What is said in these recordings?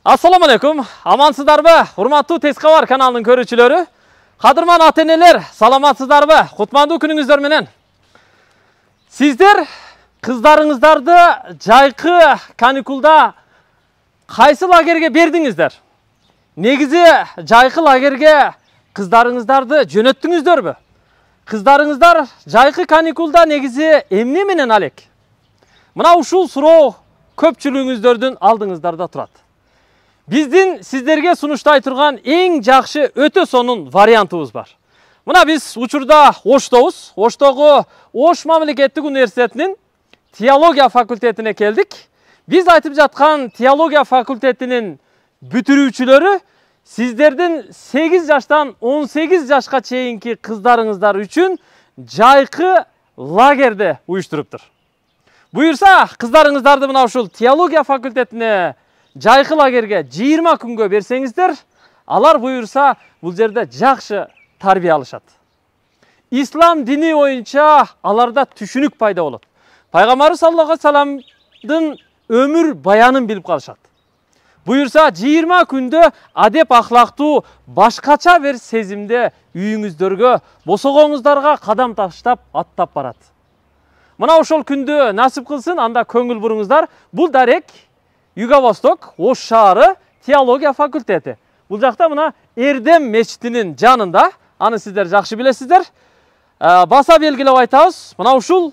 Assalamu alaikum. Amansızdarбы? Урматтуу Тез кабар каналынын көрүүчүлөрү. Кадырман ата-энелер, саламатсыздарбы? Кутмандуу күнүңүздөр менен. Сиздер кыздарыңыздарды жайкы каникулда кайсы лагерге бердиңиздер? Негизи жайкы лагерге кыздарыңыздарды жөнөттүңүздөрбү? Кыздарыңыздар жайкы каникулда негизи эмне менен алек? Мына ушул суроо көпчүлүгүңүздөрдүн алдыңыздарда турат. Биздин сиздерге сунуштай турган эң жакшы өтө сонун вариантыбыз бар. Мына биз учурда Оштобуз. Оштогу Ош мамлекеттик университетинин теология факультетине келдик. Биз айтып жаткан теология факультетинин бүтүрүүчүлөрү сиздердин 8 жаштан 18 жашка чейинки кыздарыңыздар үчүн жайкы лагерде уюштуруптур. Буюрса, кыздарыңыздарды мына ушул теология факультетине жайкы лагерге 20 күнгө берсеңиздер, алар буюрса бул жерде жакшы тарбия алышат. Ислам дини боюнча аларда түшүнүк пайда болот. Пайгамбарыбыз саллаллаху алейхи вассаламдын өмүр баянын билип калышат. Буюрса 20 күндө адеп ахлактуу башкача бир сезимде үйүңүздөргө, босогоңуздарга кадам таштап аттап барат. Мына ошол күндү насип кылсын, анда көңүл буруңуздар. Бул дарек Юго-Восток, Ош шаары теология факультети. Бул жакта мына Эрдем мечитинин жанында, аны сиздер жакшы билесиздер. Баса белгилеп айтабыз, мына ушул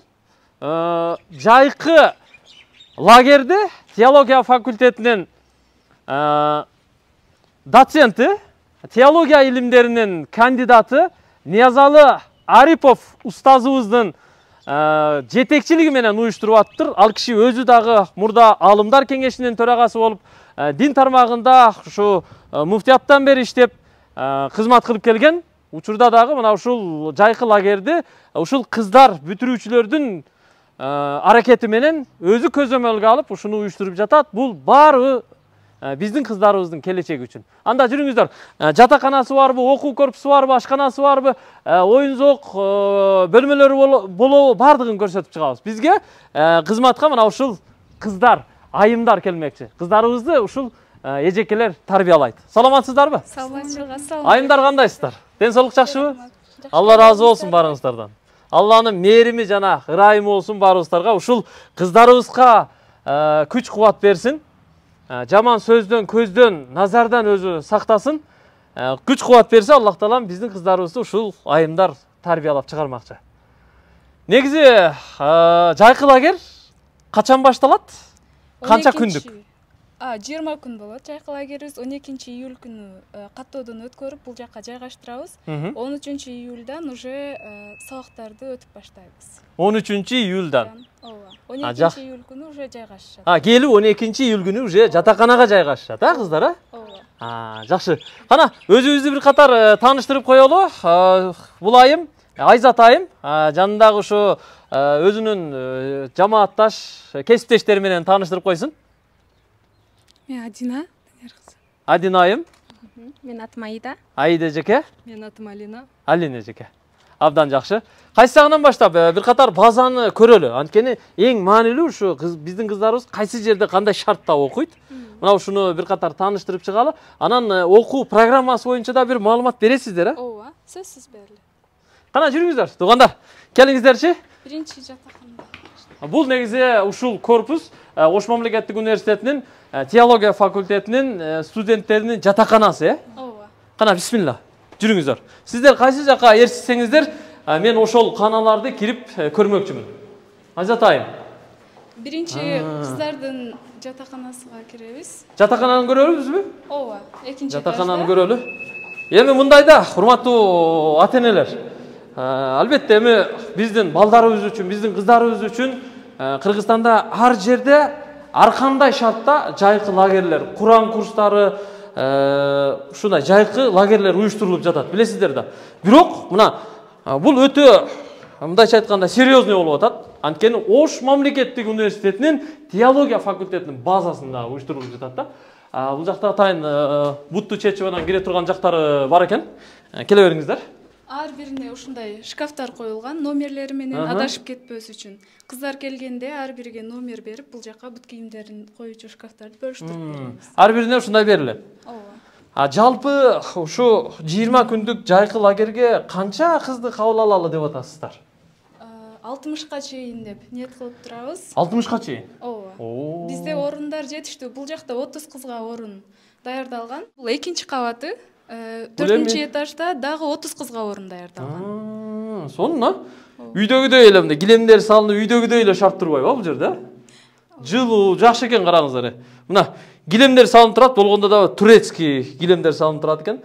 жайкы лагерди теология факультетинин доценти, теология илимдеринин кандидаты Ниязалы Арипов устазыбыздын жетекчилиги менен уюштуруп аттыр. Ал киши өзү дагы мурда Алымдар кеңешинин төрагасы болуп, дин тармагында ушу муфтияттан бери иштеп, кызмат кылып келген. Учурда дагы мына ушул жайкы лагерди ушул кыздар бүтүрүүчүлөрдүн аракети менен өзү көзөмөлгө алып ушуну уюштуруп жатат. Бул баары биздин кыздарыбыздын келечеги үчүн. Анда жүрүңүздөр. Жатаканасы барбы, окуу корпусу барбы, ашканасы барбы, оюн зоок бөлмөлөрү болобу, бардыгын көрсөтүп чыгабыз. Бизге кызматка мына ушул кыздар, айымдар келмекчи. Кыздарыбызды ушул эжекелер тарбиялайт. Саламатсыздарбы? Саламатсыздар. Айымдар кандайсыздар? Ден соолук жакшыбы? Алла ыраазы болсун баарыңыздардан. Алланын мээрими жана ырайымы болсун баарыбыздарга. Ушул кыздарыбызга күч кубат берсин. Жаман сөздөн, көздөн, назардан өзү сактасын. Күч кубат берсе, Аллах таалам биздин кыздарыбызды ушул айымдар тарбиялап чыгармакчы. Негизи жайкы лагер качан башталат? Канча күндүк? 20 күн болот. Жайкы лагерибиз 12 июль күнү каттоодон өткөрүп бул жакка жайгаштырабыз. 13 июльдан уже сабактарды өтүп баштайбыз. 13 июльдан. Ооба. 12 июль күнү уже жайгашышат. Келип 12 июль күнү уже жатаканага жайгашышат, кыздар, Ооба. Жакшы. Кана, өзүбүздү бир катар тааныштырып коелу. Бул айым, Айзат айым, жанындагы ушу өзүнүн жамаатташ, кесиптештери менен тааныштырып койсун. Мен Адина. Адина айым. Мен атым Аида. Аида эжеке. Мен атым Алина. Алина эжеке. Абдан жакшы. Кайсы жагынан баштап бир катар базаны көрөлү. Анткени эң маанилүү ушу биздин кыздарыбыз кайсы жерде кандай шартта окуйт. Мына ушуну бир катар тааныштырып чыгалы. Анан окуу программасы боюнча да бир маалымат бересиздер, Ооба, сөзсүз берилет. Кана жүрүңүздөр. Туугандар, келиңиздерчи. Биринчи жатаканда. Бул негизи ушул корпус Ош мамлекеттик университетинин теология факультетинин студенттеринин жатаканасы, Ооба. Кана бисмилла. Жүрүңүздөр. Сиздер кайсы жакка ээрчисеңиздер, мен ошол каналарды кирип көрмөкчүмүн. Айзат айым. Биринчи кыздардын жатаканасына киребиз. Жатакананы көрөлүбүзбү? Ооба. Экинчи Жатакананы көрөлү. Эми мындайда, урматтуу ата-энелер, албетте эми биздин балдарыбыз үчүн, биздин кыздарыбыз үчүн Кыргызстанда ар жерде ар кандай шартта жайкы лагерлер, Куран курстары, ушундай жайкы лагерлер уюштурулуп жатат, билесиздер да. Бирок мына бул өтө мындайча айтканда серьезный болуп атат. Анткени Ош мамлекеттик университетинин теология факультетинин базасында уюштурулуп жатат да. Бул жакта атайын бутту чечип анан кире турган жактары бар экен. Келе бериңиздер. ар бирине ушундай шкафтар коюлган, номерлери менен адашып кетпөс үчүн. Кыздар келгенде ар бириге номер берип, бул жака бут кийимдерин коюучу шкафтарды бөлүштүрүп беребиз. Ар бирине ушундай берилет. Ооба. Жалпы ушу 20 күндүк жайкы лагерге канча кызды кабыл алалы деп атасыздар? 60ка чейин деп ниет кылып турабыз. 60ка чейин? Ооба. Бизде орундар жетиштүү. Бул жакта 30 кызга орун даярдалган. Бул экинчи кабаты. 4-чү этажда дагы 30 кызга орун даярдалган. Сонун, үйдөгүдөй эле мындай килемдер салынып, үйдөгүдөй эле шарт турбайбы бул жерде? Жылуу, жакшы экен, караңыздар. Мына килемдер салынып турат, болгондо да турецкий килемдер салынып турат экен.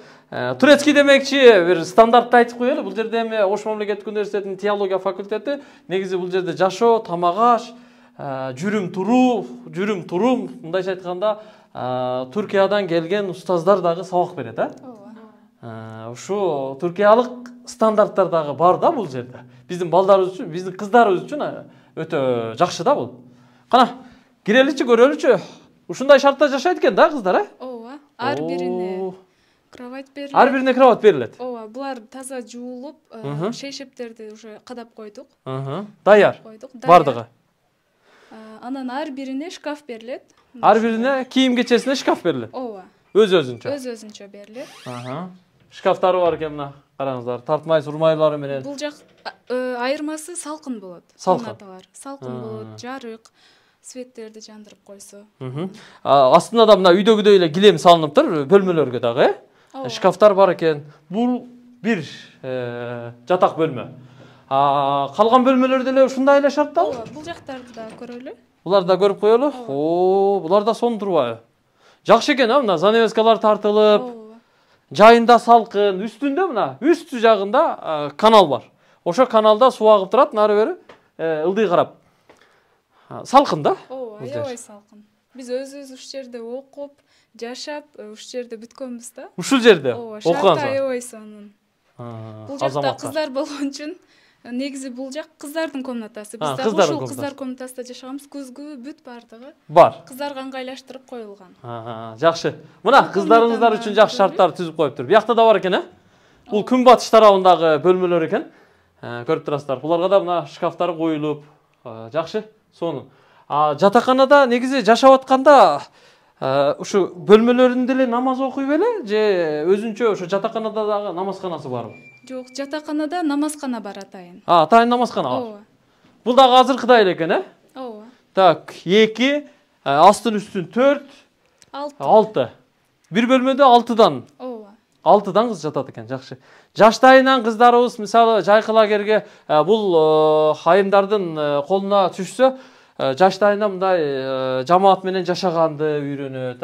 Турецкий демекчи, бир стандартты айтып коелу. Бул жерде эми Ош мамлекеттик университетинин теология факультети, негизи бул жерде жашоо, тамак аш, жүрүм турум, мындайча айтканда, Түркиядан келген устаздар дагы сабак берет, Ушу түркиялык стандарттар дагы бар да бул жерде. Биздин балдарыбыз үчүн, биздин кыздарыбыз үчүн өтө жакшы да бул. Кана, киреличи, көрөлүчү. Ушундай шартта жашайт экен да кыздар, Ооба. Ар бирине кровать берилет. Ар бирине кровать берилет. Ооба, булар таза жуулуп, шейшептерди уже кадап койдук. Даяр. Бардыгы. Анан ар бирине шкаф берилет. Ар бирине кийим кечесине шкаф берилет. Ооба. Өз-өзүнчө. Өз-өзүнчө берилет. Шкафтары бар экен мына, караңыздар. Тартмай сурмайлары менен. Бул жак айырмасы салкын болот. Комнаталар салкын болот, жарык, светтерди жандырып койсо. Астында да мына үйдөгүдөй эле килем салыныптыр, бөлмөлөргө дагы, Шкафтар бар экен. Бул бир жатак бөлмө. Калган бөлмөлөрдө эле ушундай эле шарттабы? Ооба, бул жактарды да көрөлү. Буларды да көрүп коелу. Булар да сонун турбайбы? Жакшы экен, мына занавескалар тартылып, жайында салкын, үстүндө мына, үстү жагында канал бар. Ошо каналда суу агып турат, нары бери ылдый карап. Салкын да? Ооба, аябай салкын. Биз өзүбүз ушул жерде окуп, жашап, ушул жерде бүткөнбүз да. Ушул жерде окугансыз? Аябай сонун. Бул жакта кыздар болгон үчүн негизи бул жак кыздардын комнатасы. Биз да ушул кыздар комнатасында жашаганбыз. Күзгү бүт бардыгы бар. Кыздарга ыңгайлаштырып коюлган. Жакшы. Мына кыздарыңыздар үчүн жакшы шарттар түзүп коюптур. Биякта да бар экен, Бул күн батыш тарабындагы бөлмөлөр экен. Көрүп турасыздар. Буларга да мына шкафтары коюлуп, жакшы, сонун. Жатаканада негизи жашап атканда ушу бөлмөлөрүндө эле намаз окуй беле же өзүнчө ошо жатаканада дагы намазканасы барбы? Жок, жатаканада намазкана бар атайын. Атайын намазкана бар. Ооба. Бул дагы азыркыдай эле экен, Ооба. Так, 2, астын үстүн 4, 6. Бир бөлмөдө 6дан. Ооба. 6дан кыз жатат экен, жакшы. Жаштайынан кыздарыбыз мисалы жайкы лагерге бул айымдардын колуна түшсө, жаштайынан мындай жамаат менен жашаганды үйрөнөт,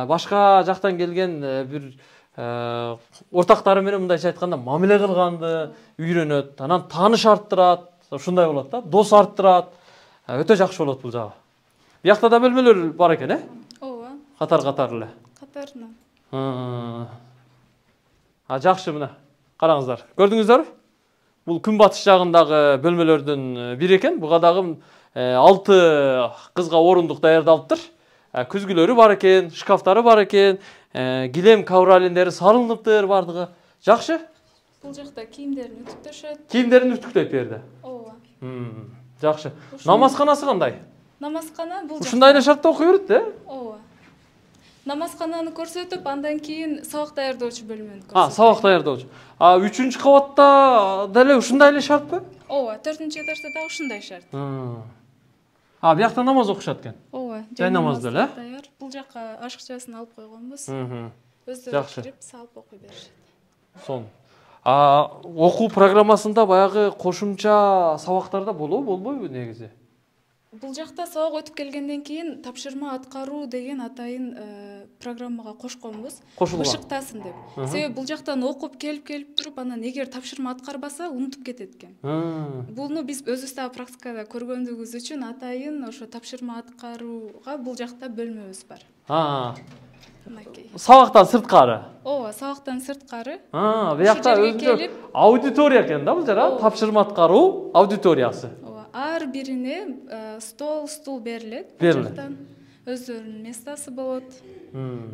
башка жактан келген бир ортактары менен мындайча айтканда мамиле кылганды үйрөнөт, анан тааныш арттырат, ушундай болот да, дос арттырат. Өтө жакшы болот бул жагы. Биякта да бөлмөлөр бар экен, Ооба. Катар эле. Катарынан. Жакшы, мына караңыздар. Көрдүңүздөрбү? Бул күн батыш жагындагы бөлмөлөрдүн бири экен. Буга дагы 6 кызга орундук даярдалыптыр. Күзгүлөрү бар экен, шкафтары бар экен, килем ковролиндери салыныптыр бардыгы. Жакшы? Бул жакта кийимдерин үтүктөшөт. Кийимдерин үтүктөйт берди. Ооба. Жакшы. Намазканасы кандай? Намазкана бул жакта. Ушундай эле шартта окуй берет, Ооба. Намазкананы көрсөтүп, андан кийин сабак даярдоочу бөлмөнү көрсөтөт. Сабак даярдоочу. 3-чү кабатта деле ушундай эле шартпы? Ооба, 4-чү этажда да ушундай шарт. Биякта намаз окушат экен. Ооба, жай намаз деле. Даяр. Бул жакка ашыкчасын алып койгонбуз. Жакшы. Кирип, салып окуй беришет. Сонун. Окуу программасында баягы кошумча сабактарда болбойбу негизи? Бул жакта сабак өтүп келгенден кийин тапшырма аткаруу деген атайын программага кошконбуз. Бышыктасын деп. Себеби бул жактан окуп келип туруп, анан эгер тапшырма аткарбаса унутуп кетет экен. Буну биз өзүбүз да практикада көргөндүгүбүз үчүн атайын ошо тапшырма аткарууга бул жакта бөлмөбүз бар. Сабактан сырткары? Ооба, сабактан сырткары. Биякта өзүнчө аудитория экен да бул жер, Тапшырма аткаруу аудиториясы. Ар бирине стул берилет. Берилет. Өздөрүнүн местасы болот.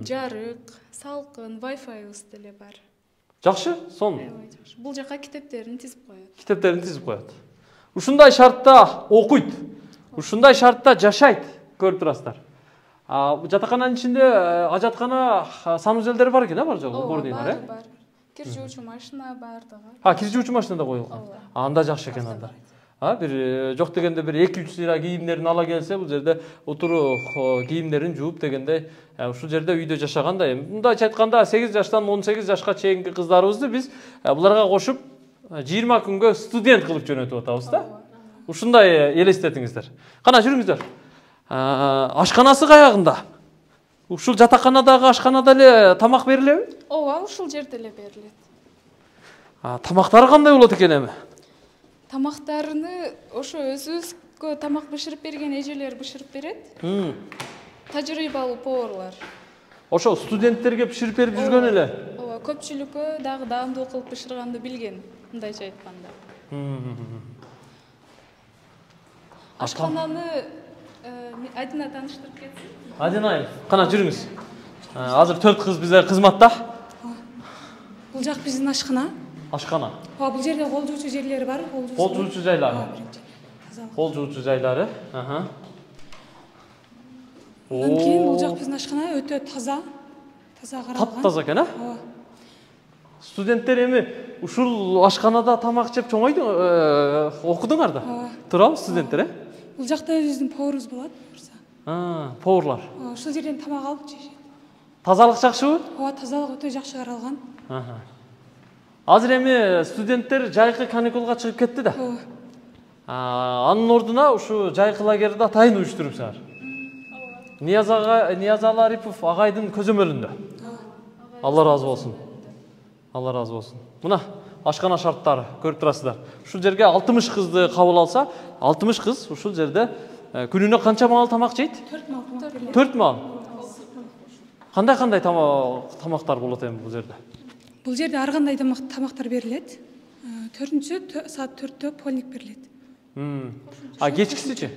Жарык, салкын, Wi-Fi деле бар. Жакшы, сонун. Бул жака китептерин тизип коет. Китептерин тизип коет. Ушундай шартта окуйт. Ушундай шартта жашайт, көрүп турасыздар. Жатакананын ичинде ажаткана санузелдери бар экен, бар жок, бордыйнар, бар. Кир жуучу машина бар дагы. Кир жуучу машина да коюлган. Анда жакшы экен анда. Бир жок дегенде бир 2-3 сыйра кийимдерин ала келсе, бул жерде отуруп кийимдерин жууп дегенде ушул жерде үйдө жашагандай. Мындайча айтканда 8 жаштан 18 жашка чейинки кыздарыбызды биз буларга кошуп 20 күнгө студент кылып жөнөтүп атабыз да. Ушундай элестетиңиздер. Кана жүрүңүздөр. Ашканасы каягында? Ушул жатаканадагы ашканада эле тамак берилеби? Ооба, ушул жерде эле берилет. Тамактары кандай болот экен эми? Тамактарыны ошо өзүбүзгө тамак бышырып берген эжелер бышырып берет. Тажрыйбалуу поварлар. Ошо студенттерге бышырып берип жүргөн эле. Ооба, көпчүлүккө дагы даамдуу кылып бышырганды билген, мындайча айтканда. Ашкананы Адина тааныштырып кетсин. Адина, кана жүрүңүз. Азыр 4 кыз бизге кызматта. Бул жак биздин ашкана. Ашкана. Бул жерде кол жуучу жерлери бар. Кол жуучу жайлары. Кол жуучу жайлары. Андан кийин бул жак биздин ашкана өтө таза. Таза каралган. Таптаза экен, Ооба. Студенттер эми ушул ашканада тамак жеп чоңойду, окудуңар да? Туурабы студенттер, Бул жакта биздин поварыбыз болот, бурса. Поварлар. Ушул жерден тамак алып жешет. Тазалык жакшыбы? Ооба, тазалык өтө жакшы каралган. Азыр эми студенттер жайкы каникулга чыгып кетти да. Анын ордуна ушу жайкы лагерде атайын уюштурупсыңар. Ниязалы Арипов агайдын көзөмөлүндө. Алла разы болсун. Алла разы болсун. Мына ашкана шарттары көрүп турасыздар. Ушул жерге 60 кызды кабыл алса, 60 кыз ушул жерде күнүнө канча маал тамак жейт? 4 маал тамак берилет. 4 маал. Кандай тамактар болот эми бул жерде? Бул жерде ар кандай тамактар берилет. 4-саат 4-тө полник берилет. Кечкисичи?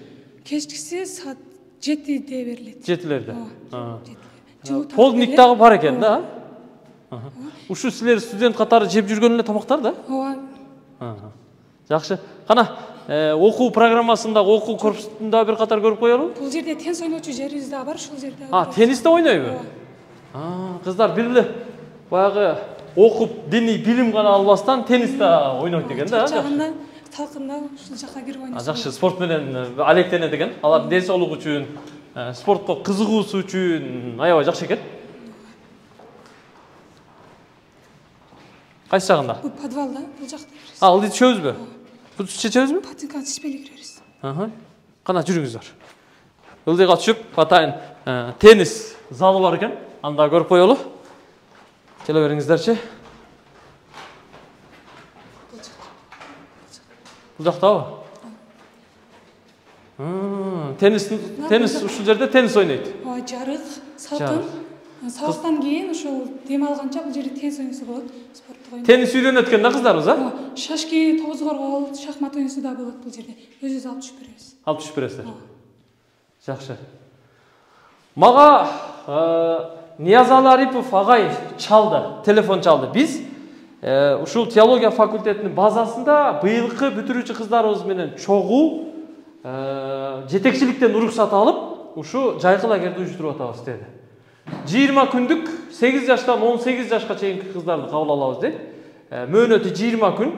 Кечкиси саат 7-де берилет. 7-лерде. Полник дагы бар экен да? Ушу силер студент катары жеп жүргөн эле тамактар да? Ооба. Жакшы. Кана окуу программасында, окуу корпусунда бир катар көрүп коелу. Бул жерде теннис ойночу жерибиз дагы бар, ушул жерде. Теннисте ойнойбу? Кыздар бир эле баягы окуп, диний билим гана албастан теннисте ойнойт экен да? Чачагында, талкында ушул жака кирип ойнойт. Жакшы, спорт менен алектенет экен. Алардын ден соолугу үчүн, спортко кызыгуусу үчүн аябай жакшы экен. Кайсы жагында? Бул подвалда, бул жакта. Ылдый түшөбүзбү? Бул чечебизби? Патинканы чечпей киребиз. Кана жүрүңүздөр. Ылдыйга түшүп, атайын теннис залы бар экен. Анда көрүп коелу. Келе бериңиздерчи. Бул жактабы? Теннис ушул жерде теннис ойнойт. Ооба, жарык, салкын. Сабактан кийин ошол дем алганча бул жерде теннис ойносо болот, спорттук ойнойт. Теннис үйрөнөт экен да кыздарыбыз, Шашки, тогуз коргол, шахмат ойносо да болот бул жерде. Өзүбүз алып түшүп беребиз. Алып түшүп бересиздер. Жакшы. Мага Ниязалы Арипов агай чалды, телефон чалды. Биз ушул теология факультетинин базасында быйылкы бүтүрүүчү кыздарыбыз менен чогуу жетекчиликтен уруксат алып, ушу жайкы лагерди уюштуруп атабыз деди. 20 күндүк 8 жаштан 18 жашка чейинки кыздарды кабыл алабыз дейт. Мөөнөтү 20 күн.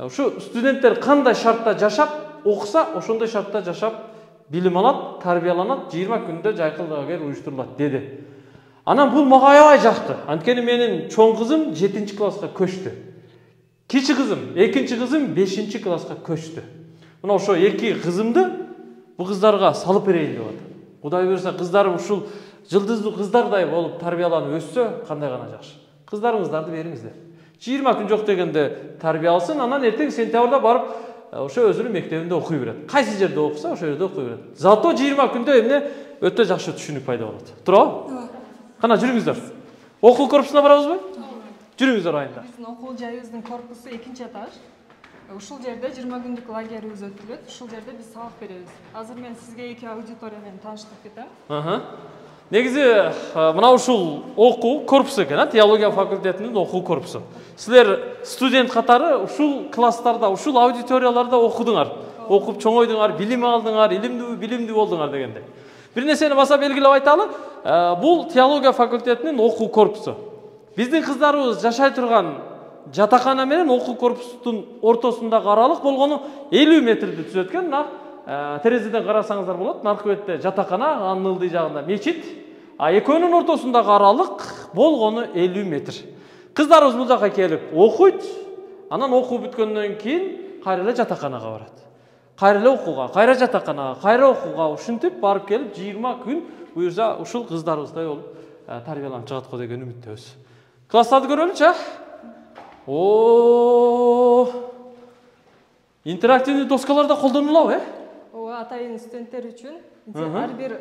Ушу студенттер кандай шартта жашап, окуса, ошондой шартта жашап, билим алат, тарбияланат, 20 күндө жайкы лагер уюштурулат деди. Анан бул мага аябай жакты. Анткени менин чоң кызым 7-класска көчтү. Кичи кызым, 2-кызым 5-класска көчтү. Мына ошо 2 кызымды бул кыздарга салып берейин деп атам. Кудай буйрса кыздарым ушул жылдыздуу кыздардай болуп тарбияланып өссө, кандай гана жакшы. Кыздарыңыздарды бериңиздер. 20 күн жок дегенде тарбия алсын, анан эртең сентябрда барып ошо өзүнүн мектебинде окуй берет. Кайсы жерде окуса, ошол жерде окуй берет. Зато 20 күндө эмне өтө жакшы түшүнүк пайда болот. Туурабы? Ооба. Кана жүрүңүздөр. Окуу корпусуна барабызбы? Жүрүңүздөр айында. Биздин окуу жайыбыздын корпусу 2-этаж. Ушул жерде 20 күндүк лагерибиз өтүлөт. Ушул жерде биз сабак беребиз. Азыр мен сизге 2 аудитория менен тааныштырып кетем. Негизи мына ушул окуу корпусу экен, теология факультетинин окуу корпусу. Силер студент катары ушул класстарда, ушул аудиторияларда окудуңар, окуп чоңойдуңар, билим алдыңар, билимдүү болдуңар дегенде. Бир нерсени баса белгилеп айталы, бул теология факультетинин окуу корпусу. Биздин кыздарыбыз жашай турган жатакана менен окуу корпусунун ортосундагы аралык болгону 50 метрди түзөт экен. Мына терезеден карасаңыздар болот. Наркы бетте жатакана, анын ылдый жагында мечит, а экөөнүн ортосундагы аралык болгону 50 метр. Кыздарыбыз бул жака келип окуйт, анан окуу бүткөндөн кийин кайра эле жатаканага барат. Кайра эле окууга, кайра жатаканага, кайра окууга ушинтип барып келип 20 күн буюрса ушул кыздарыбыздай болуп тарбияланып чыгат го деген үмүттөбүз. Класстарды көрөлүчү, интерактивдүү доскалар да колдонулабы, Ооба, атайын студенттер үчүн ар бир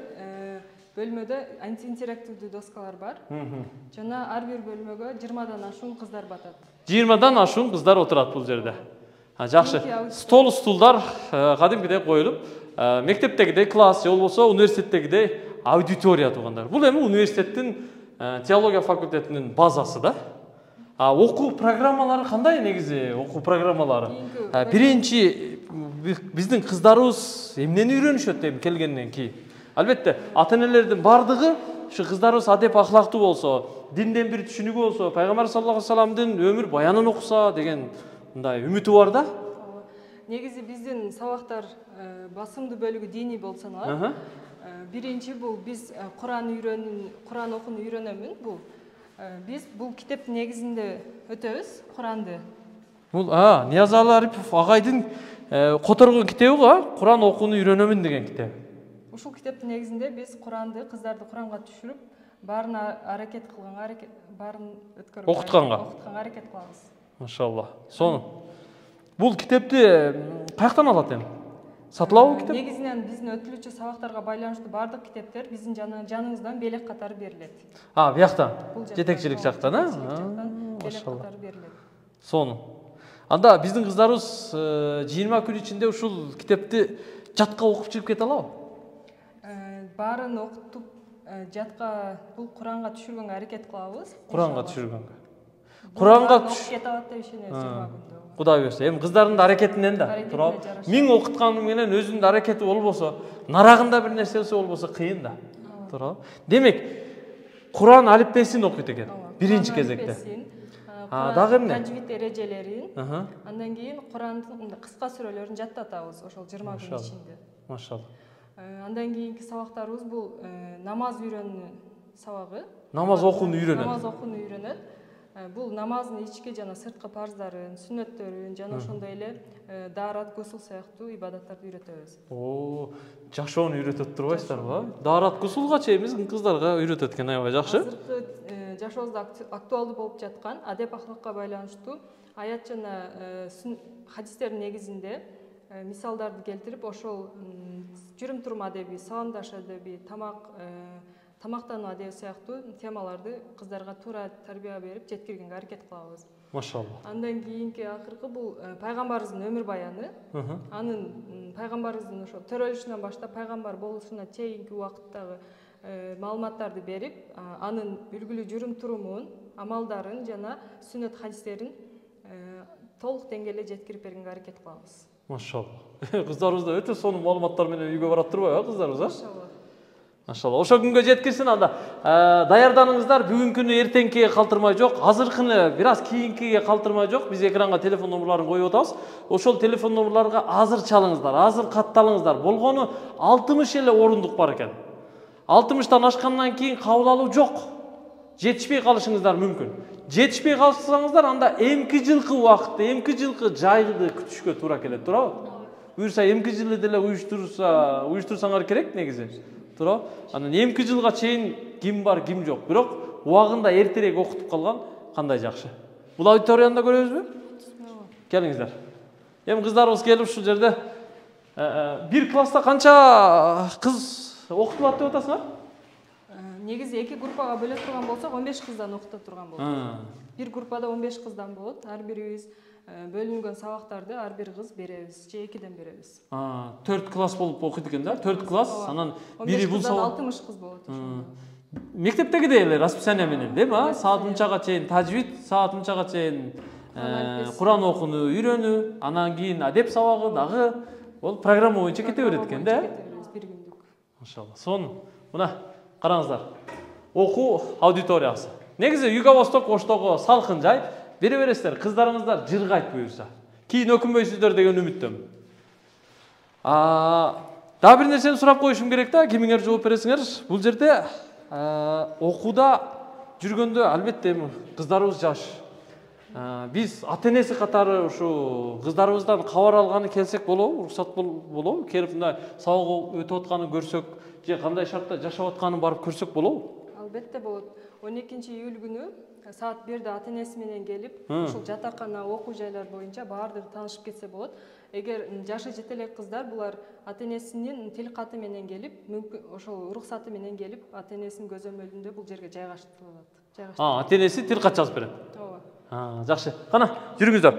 бөлмөдө интерактивдүү доскалар бар. Жана ар бир бөлмөгө 20дан ашуун кыздар батат. 20дан ашуун кыздар отурат бул жерде. Жакшы. Стол стулдар кадимкидей коюлуп, мектептегидей класс же болбосо университеттегидей аудитория туугандар. Бул эми университеттин теология факультетинин базасы да. Окуу программалары кандай негизи? Окуу программалары. Биринчи биздин кыздарыбыз эмнени үйрөнүшөт деп келгенден кийин. Албетте, ата-энелердин бардыгы ушу кыздарыбыз адеп ахлактуу болсо, динден бир түшүнүгү болсо, пайгамбар саллаллаху алейхи вассаламдын өмүр баянын окуса деген мындай үмүтү бар да. Негизи биздин сабактар басымдуу бөлүгү диний болуп саналат. Биринчи бул биз Куран окууну үйрөнөмүн. Биз бул китептин негизинде өтөбүз, Куранды. Бул Ниязалы Арипов агайдын которгон китеби го, Куран окууну үйрөнөмүн деген китеп. Ушул китептин негизинде биз Куранды, кыздарды Куранга түшүрүп, баарын аракет кылганга, баарын өткөрүп окутканга аракет кылабыз. Машалла. Сону. Бул китепти каяктан алат эми? Сатылабы китеп? Негизинен биздин өтүлүүчү сабактарга байланыштуу бардык китептер биздин жаныбыздан белек катары берилет. Бияктан. Жетекчилик жактан, белек катары берилет. Сону. Анда биздин кыздарыбыз 20 күн ичинде ушул китепти жатка окуп чыгып кете алабы? Баарын окутуп, жатка бул Куранга түшүргөнгө аракет кылабыз. Куранга түшүргөнгө. Куранга окуп кете алат деп ишенебиз 20 күндө. Кудай берсе, эми кыздардын да аракетинен да турабы. Миң окутканым менен өзүнүн аракети болбосо, нарагында бир нерсеси болбосо кыйын да. Турабы. Демек, Куран алифбесин окуйт экен биринчи кезекте. Дагы эмне? Таджвид эрежелерин, андан кийин Курандын кыска сүрөлөрүн жаттатабыз ошол 20 күн ичинде. Машалла. Андан кийинки сабактарыбыз бул намаз үйрөнүү сабагы. Намаз окууну үйрөнөт. Намаз окууну үйрөнөт. Бул намаздын ички жана сырткы парздарын, сүннөттөрүн, жана ошондой эле даарат, гусул сыяктуу ибадаттарды үйрөтөбүз. Жашоону үйрөтөт турбайсыздарбы? Даарат, гусулга чейин биздин кыздарга үйрөтөт экен, аябай жакшы. Азыркы жашообузда актуалдуу болуп жаткан адеп ахлакка байланыштуу аят жана хадистердин негизинде мисалдарды келтирип, ошол жүрүм-турум адеби, саламдаш адеби, тамактануу адеби сыяктуу темаларды кыздарга туура тарбия берип жеткиргенге аракет кылабыз. Машалла. Андан кийинки акыркы бул пайгамбарыбыздын өмүр баяны. Анын пайгамбарыбыздын ошо төрөлүшүнөн баштап пайгамбар болушуна чейинки убакыттагы маалыматтарды берип, анын үлгүлүү жүрүм-турумун, амалдарын жана сүннөт хадистерин толук деңгээлде жеткирип бергенге аракет кылабыз. Машалла. Кыздарыбыз да өтө сонун маалыматтар менен үйгө барат турбайбы кыздарыбыз, Машалла. Машалла. Ошо күнгө жеткирсин анда. Даярданыңыздар, бүгүнкүнү эртеңкиге калтырмай жок, азыркыны бир аз кийинкиге калтырмай жок. Биз экранга телефон номерларын коюп атабыз. Ошол телефон номерларга азыр чалыңыздар, азыр катталыңыздар. Болгону 60 эле орундук бар экен. 60тан ашкандан кийин кабыл алуу жок. Жетишпей калышыңыздар мүмкүн. Жетишпей калсаңыздар, анда эмки жылкы убакытты, эмки жылкы жайды күтүшкө туура келет, туурабы? Буюрса эмки жылы деле уюштурсаңар керек негизи. Туурабы? Анан эмки жылга чейин ким бар, ким жок. Бирок убагында эртерээк окутуп калган кандай жакшы. Бул аудиторияны да көрөбүзбү? Келиңиздер. Эми кыздарыбыз келип ушул жерде бир класста канча кыз окутулат деп атасыңар? Негизи эки группага бөлө турган болсок 15 кыздан окута турган болот. Бир группада 15 кыздан болот. Ар бирибиз бөлүнгөн сабактарды ар бир кыз беребиз, же экиден беребиз. 4 класс болуп окуйт экен да? 4 класс, анан бири бул сабак 60 кыз болот ошондо. мектептегидей эле расписание менен, дейби? Саат мынчага чейин тажвид, саат мынчага чейин Куран окууну үйрөнүү, анан кийин адеп сабагы дагы ол программа боюнча кете берет экен да? Бир күндүк. Машалла. Сонун. Мына караңыздар. Окуу аудиториясы. Негизи Юго-Восток Оштогу салкын жай. Бере бересиздер, кыздарыңыздар жыргайт буюрса. Кийин өкүнбөйсүздөр деген үмүттөмүн. Дагы бир нерсени сурап коюшум керек да, кимиңер жооп бересиңер. Бул жерде окууда жүргөндө албетте кыздарыбыз жаш. Биз ата-энеси катары ушу кыздарыбыздан кабар алганы келсек болобу, уруксат болобу? Келип мындай сабак өтүп атканын көрсөк, же кандай шартта жашап атканын барып көрсөк болобу? Албетте болот. 12-июль күнү саат 1-де ата-энеси менен келип, ушул жатакана окуу жайлар боюнча баардыгы таанышып кетсе болот. Эгер жашы жете элек кыздар булар ата-энесинин тил каты менен келип, мүмкүн ошол уруксаты менен келип, ата-энесинин көзөмөлүндө бул жерге жайгаштырылат. Ата-энеси тил кат жазып берет. Ооба. Жакшы. Кана, жүрүңүздөр.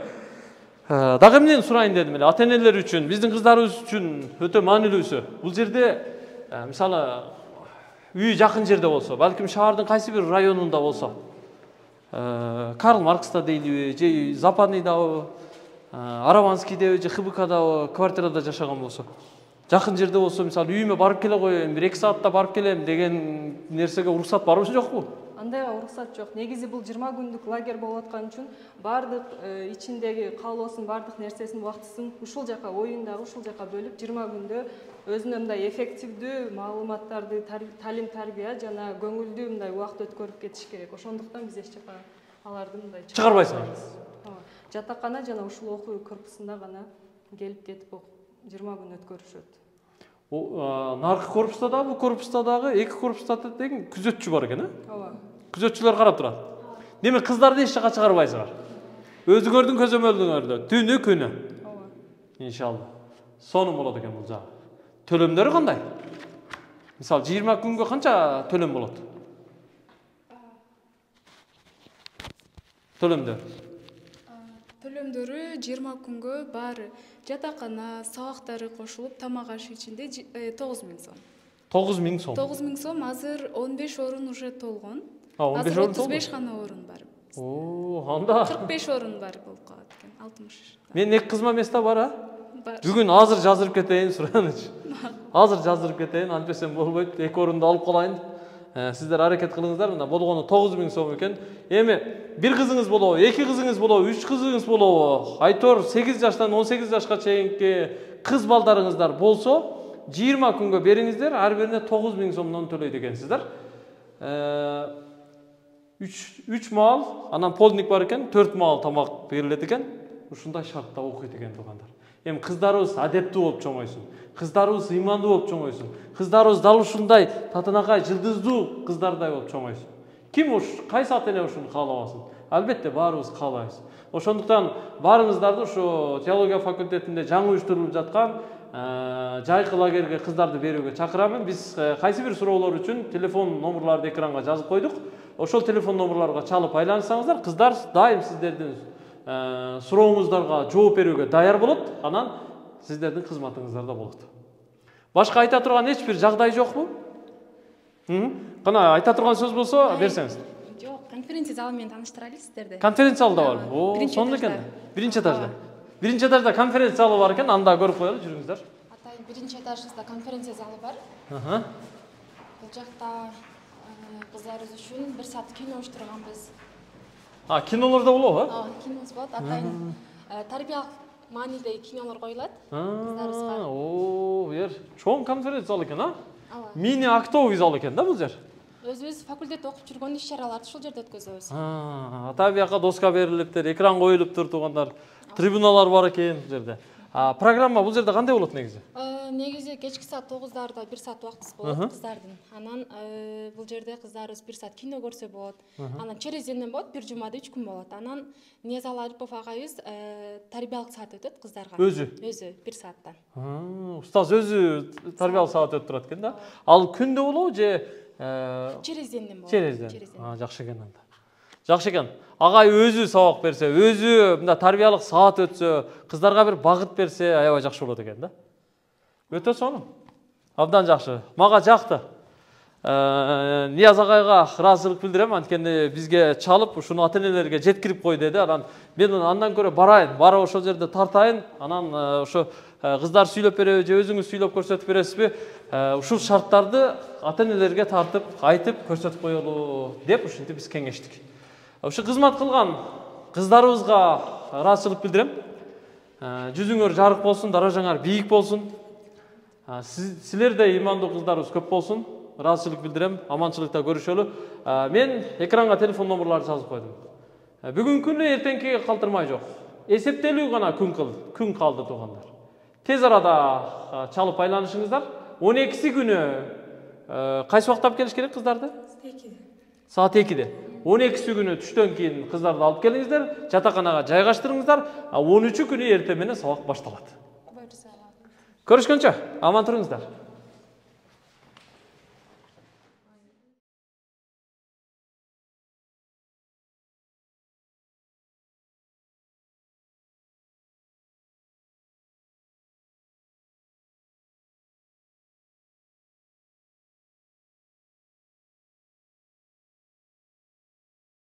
Дагы эмнени сурайын дедим эле. Ата-энелер үчүн, биздин кыздарыбыз үчүн өтө маанилүүсү. Бул жерде мисалы үй жакын жерде болсо, балким шаардын кайсы бир районунда болсо, Карл Маркста дейлиби, же Западныйдабы, Араванскийдеби, же ХБКдабы квартирада жашаган болсо, жакын жерде болсо, мисалы үйүмө барып келе коеюн, 1-2 саатта барып келем деген нерсеге уруксат барбы жокпу? Андайга уруксат жок. Негизи бул 20 күндүк лагерь болуп аткан үчүн бардык ичиндеги каалоосун, бардык нерсесин, убактысын ушул жака, оюндагы ушул жака бөлүп 20 күндө өзүнө мындай эффективдүү маалыматтарды, талим тарбия жана көңүлдүү мындай убакыт өткөрүп кетиш керек. Ошондуктан биз эч жака аларды мындай чыгарбайсыңар. Жатакана жана ушул окуу корпусунда гана келип кетип 20 күн өткөрүшөт. Наркы корпуста дагы, бул корпуста дагы, эки корпуста деген күзөтчү бар экен, Ооба. Күзөтчүлөр карап турат. Демек кыздарды эч жака чыгарбайсыңар. Өзүңөрдүн көзөмөлүңөрдө, түнү күнү. Ооба. Иншалла. Сонун болот экен бул жагы. Төлөмдөрү кандай? Мисалы 20 күнгө канча төлөм болот? Төлөмдөрү 20 күнгө баары жатакана, сабактары кошулуп, тамак аш ичинде 9000 сом. 9000 сом. 9000 сом, азыр 15 орун уже толгон. 15 орун толду. 35 гана орун бар. Анда 45 орун бар болуп калат экен. 60. Мен эки кызма место бар, Бар. Бүгүн азыр жаздырып кетейин, суранычы. Азыр жаздырып кетейин, антпесем болбойт. Эки орунду алып калайын. Сиздер аракет кылыңыздар, мына болгону 9000 сом экен. Эми бир кызыңыз болобу, эки кызыңыз болобу, 3 кызыңыз болобу, айтор 8 жаштан 18 жашка чейинки кыз балдарыңыздар болсо, 20 күнгө бериңиздер, ар бирине 9000 сомдон төлөйт экенсиздер. 3 маал, анан полдник бар экен, 4 маал тамак берилет экен. Ушундай шартта окуйт экен туугандар. Эми кыздарыбыз адептүү болуп чоңойсун. Кыздарыбыз ыймандуу болуп чоңойсун. Кыздарыбыз дал ушундай татынакай жылдыздуу кыздардай болуп чоңойсун. Ким кайсы ата-эне ушуну каалабасын? Албетте баарыбыз каалайбыз. Ошондуктан баарыңыздарды ушу теология факультетинде жаңы уюштурулуп жаткан жайкы лагерге кыздарды берүүгө чакырамын. Биз кайсы бир суроолор үчүн телефон номерларды экранга жазып койдук. Ошол телефон номерларга чалып айланышсаңыздар, кыздар дайым сиздердин сурооңуздарга жооп берүүгө даяр болот, анан сиздердин кызматыңыздарда болот. Башка айта турган эч бир жагдай жокпу? Кана айта турган сөз болсо берсеңиз. Жок, конференция залы менен тааныштырайлы сиздерди. Конференция залда бар. Сонун экен. Биринчи этажда. Биринчи этажда конференция залы бар экен, анда көрүп коелу, жүрүңүздөр. Атайын биринчи этажыбызда конференция залы бар. Бул жакта кыздарыбыз үчүн 1 саат кино уюштурганбыз. Кинолордо болобу, Киномуз болот. Атайын тарбиялык маанидеги кинолор коюлат. Бул жер чоң конференция зал экен, Мини актовый зал экен да бул жер. Өзүбүз факультетте окуп жүргөн иш-чараларды ушул жерде өткөзөбүз. Ата бияка доска берилиптир, экран коюлуптур туугандар. Трибуналар бар экен бул жерде. Программа бул жерде кандай болот негизи? Негизи кечки саат 9-дарда 1 саат убактыбыз болот кыздардын. Анан бул жерде кыздарыбыз 1 саат кино көрсө болот. Анан через денден болот, бир жумада 3 күн болот. Анан Незал Арипов агайыбыз тарбиялык саат өтөт кыздарга. Өзү 1 сааттан. Устаз өзү тарбиялык саат өтүп турат экен да. Ал күндө болобу же через денден болот. Через ден. Жакшы экен анда. Жакшы экен. Агай өзү сабак берсе, өзү мында тарбиялык саат өтсө, кыздарга бир багыт берсе, аябай жакшы болот экен да. Өтө сонун. Абдан жакшы. Мага жакты. Нияз агайга ыраазычылык билдирем, анткени бизге чалып ушуну ата-энелерге жеткирип кой деди. Мен андан көрө барайын, барып ошол жерде тартайын, анан ошо кыздар сүйлөп береби же өзүңүз сүйлөп көрсөтүп бересизби? Ушул шарттарды ата-энелерге тартып, айтып көрсөтүп коелу деп ушинтип биз кеңештик. Ушу кызмат кылган кыздарыбызга ыраазычылык билдирем. Жүзүңөр жарык болсун, даражаңар бийик болсун. Силерде имандуу кыздарыбыз көп болсун. Ыраазычылык билдирем. Аманчылыкта көрүшөлү. Мен экранга телефон номерларды жазып койдум. Бүгүнкү күнү эртеңкиге калтырмай жок. Эсептелүү гана күн калды туугандар. Тез арада чалып байланышыңыздар. 12 күнү кайсы убакта келиш керек кыздарды? Саат 2-де. 12 күнү түштөн кийин кыздарды алып келиңиздер, жатаканага жайгаштырыңыздар. 13 күнү эртең менен сабак башталат. Көрүшкөнчө, аман туруңуздар.